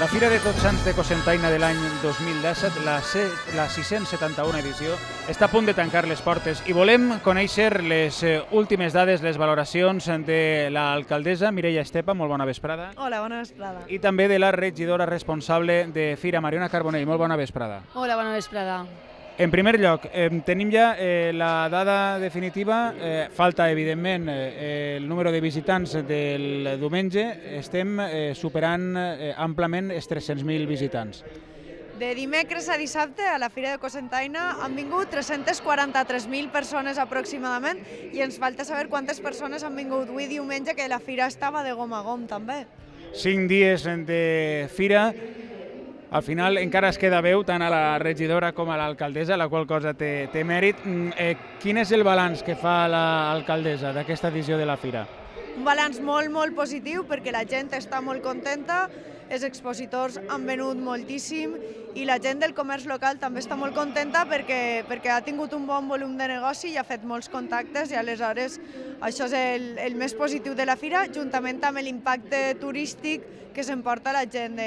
La Fira de Tots Sants de Cocentaina de l'any 2017, la 671 edició, està a punt de tancar les portes i volem conèixer les últimes dades, les valoracions de l'alcaldessa Mireia Estepa, molt bona vesprada. Hola, bona vesprada. I també de la regidora responsable de Fira, Mariona Carbonell, molt bona vesprada. Hola, bona vesprada. En primer lloc, tenim ja la dada definitiva, falta evidentment el número de visitants del diumenge, estem superant amplament els 300.000 visitants. De dimecres a dissabte a la Fira de Cocentaina han vingut 343.000 persones aproximadament i ens falta saber quantes persones han vingut avui diumenge, que la Fira estava de gom a gom també. 5 dies de Fira. Al final encara es queda veu tant a la regidora com a l'alcaldessa, la qual cosa té mèrit. Quin és el balanç que fa l'alcaldessa d'aquesta edició de la Fira? Un balanç molt positiu perquè la gent està molt contenta, els expositors han venut moltíssim i la gent del comerç local també està molt contenta perquè ha tingut un bon volum de negoci i ha fet molts contactes i aleshores això és el més positiu de la Fira, juntament amb l'impacte turístic que s'emporta la gent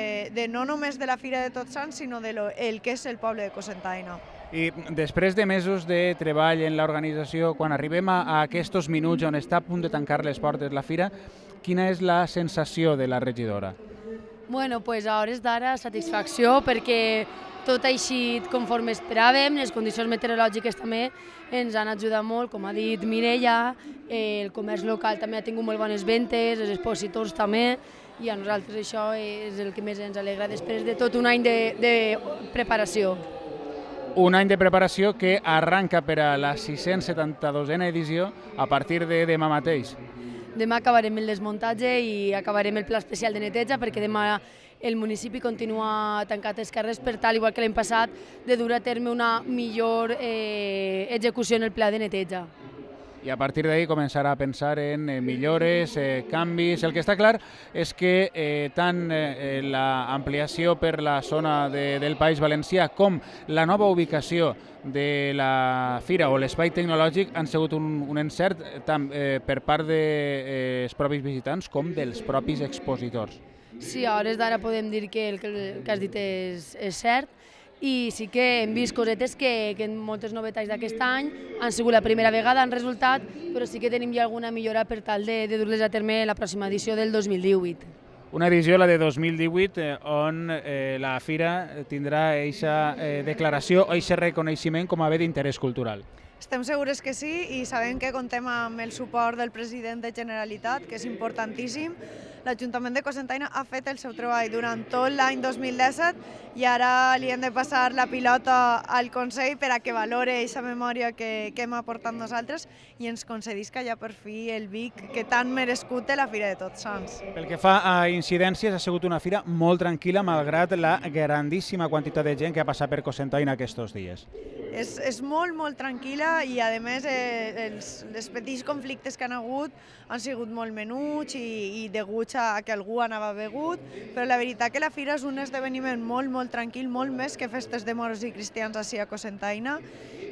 no només de la Fira de Tots Sants, sinó del que és el poble de Cocentaina. I després de mesos de treball en l'organització, quan arribem a aquests minuts on està a punt de tancar les portes la Fira, quina és la sensació de la regidora? Bueno, pues a hores d'ara satisfacció perquè tot ha eixit conforme esperàvem, les condicions meteorològiques també ens han ajudat molt, com ha dit Mireia, el comerç local també ha tingut molt bones ventes, els expositors també, i a nosaltres això és el que més ens alegra després de tot un any de preparació. Un any de preparació que arranca per a la 672a edició a partir de demà mateix. Demà acabarem el desmuntatge i acabarem el pla especial de neteja perquè demà el municipi continua tancat els carrers per tal, igual que l'any passat, de dur a terme una millor execució en el pla de neteja. I a partir d'ahí començarà a pensar en millores, canvis. El que està clar és que tant l'ampliació per la zona del País Valencià com la nova ubicació de la Fira o l'espai tecnològic han sigut un encert tant per part dels propis visitants com dels propis expositors. Sí, a hores d'ara podem dir que el que has dit és cert. I sí que hem vist cosetes que moltes novetats d'aquest any han sigut la primera vegada, han resultat, però sí que tenim ja alguna millora per tal de dur-les a terme la pròxima edició del 2018. Una edició, la de 2018, on la Fira tindrà aquesta declaració o aquest reconeixement com a bé d'interès cultural. Estem segures que sí i sabem que contem amb el suport del president de Generalitat, que és importantíssim. L'Ajuntament de Cocentaina ha fet el seu treball durant tot l'any 2017 i ara li hem de passar la pilota al Consell per a que valore aquesta memòria que hem aportat nosaltres i ens concedisca ja per fi el Vic que tan merescut té la Fira de Tots Sants. Pel que fa a incidències, ha sigut una fira molt tranquil·la malgrat la grandíssima quantitat de gent que ha passat per Cocentaina aquests dies. És molt tranquil·la i a més els petits conflictes que han hagut han sigut molt menuts i deguts a que algú anava begut, però la veritat que la Fira és un esdeveniment molt tranquil, molt més que festes de moros i cristians així a Cocentaina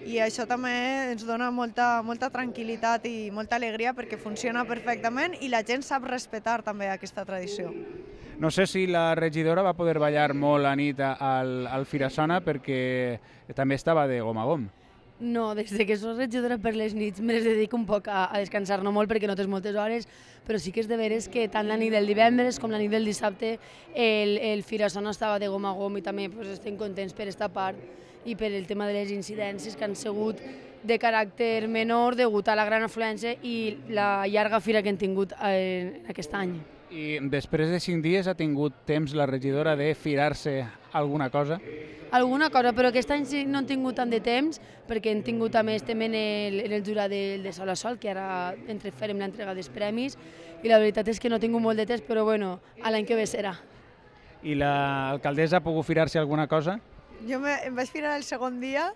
i això també ens dona molta tranquil·litat i molta alegria perquè funciona perfectament i la gent sap respectar també aquesta tradició. No sé si la regidora va poder ballar molt a nit al Firasona perquè també estava de gom a gom. No, des que soc regidora per les nits me les dedico un poc a descansar, no molt perquè no tens moltes hores, però sí que és de veres que tant la nit del divendres com la nit del dissabte el Firasona estava de gom a gom i també estem contents per aquesta part i per el tema de les incidències que han sigut de caràcter menor degut a la gran afluència i la llarga fira que hem tingut aquest any. I després de 5 dies ha tingut temps la regidora de firar-se alguna cosa? Alguna cosa, però aquest any sí no hem tingut tant de temps perquè hem tingut a més també en el jurat de Sol a Sol, que ara farem l'entrega dels premis i la veritat és que no he tingut molt de temps, però bueno, l'any que ve serà. I l'alcaldessa ha pogut firar-se alguna cosa? Jo em vaig firar el segon dia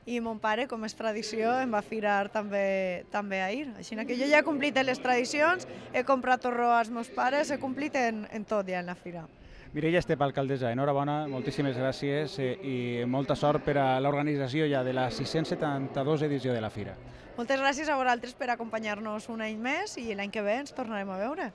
i mon pare, com és tradició, em va firar també ahir. Així que jo ja he complit les tradicions, he comprat torró als meus pares, he complit en tot ja en la fira. Mireia Estepa, alcaldessa, enhorabona, moltíssimes gràcies i molta sort per a l'organització ja de la 672 edició de la Fira. Moltes gràcies a vosaltres per acompanyar-nos un any més i l'any que ve ens tornarem a veure.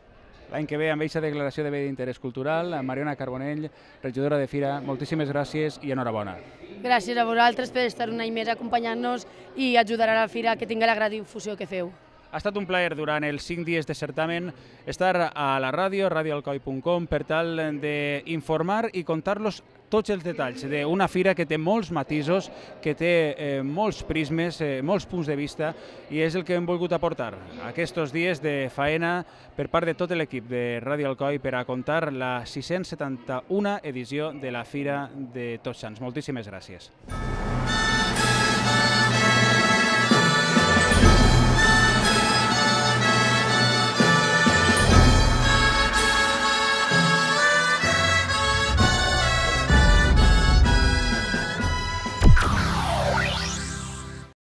l'any que ve amb aquesta declaració de bé d'interès cultural. Mariona Carbonell, regidora de Fira, moltíssimes gràcies i enhorabona. Gràcies a vosaltres per estar un any més acompanyant-nos i ajudar a la Fira que tingui la gran difusió que feu. Ha estat un plaer durant els 5 dies de certamen estar a la ràdio, radioalcoi.com, per tal d'informar i contar-los tots els detalls d'una fira que té molts matisos, que té molts prismes, molts punts de vista, i és el que hem volgut aportar aquests dies de faena per part de tot l'equip de Ràdio Alcoi per a contar la 671 edició de la Fira de Tots Sants. Moltíssimes gràcies.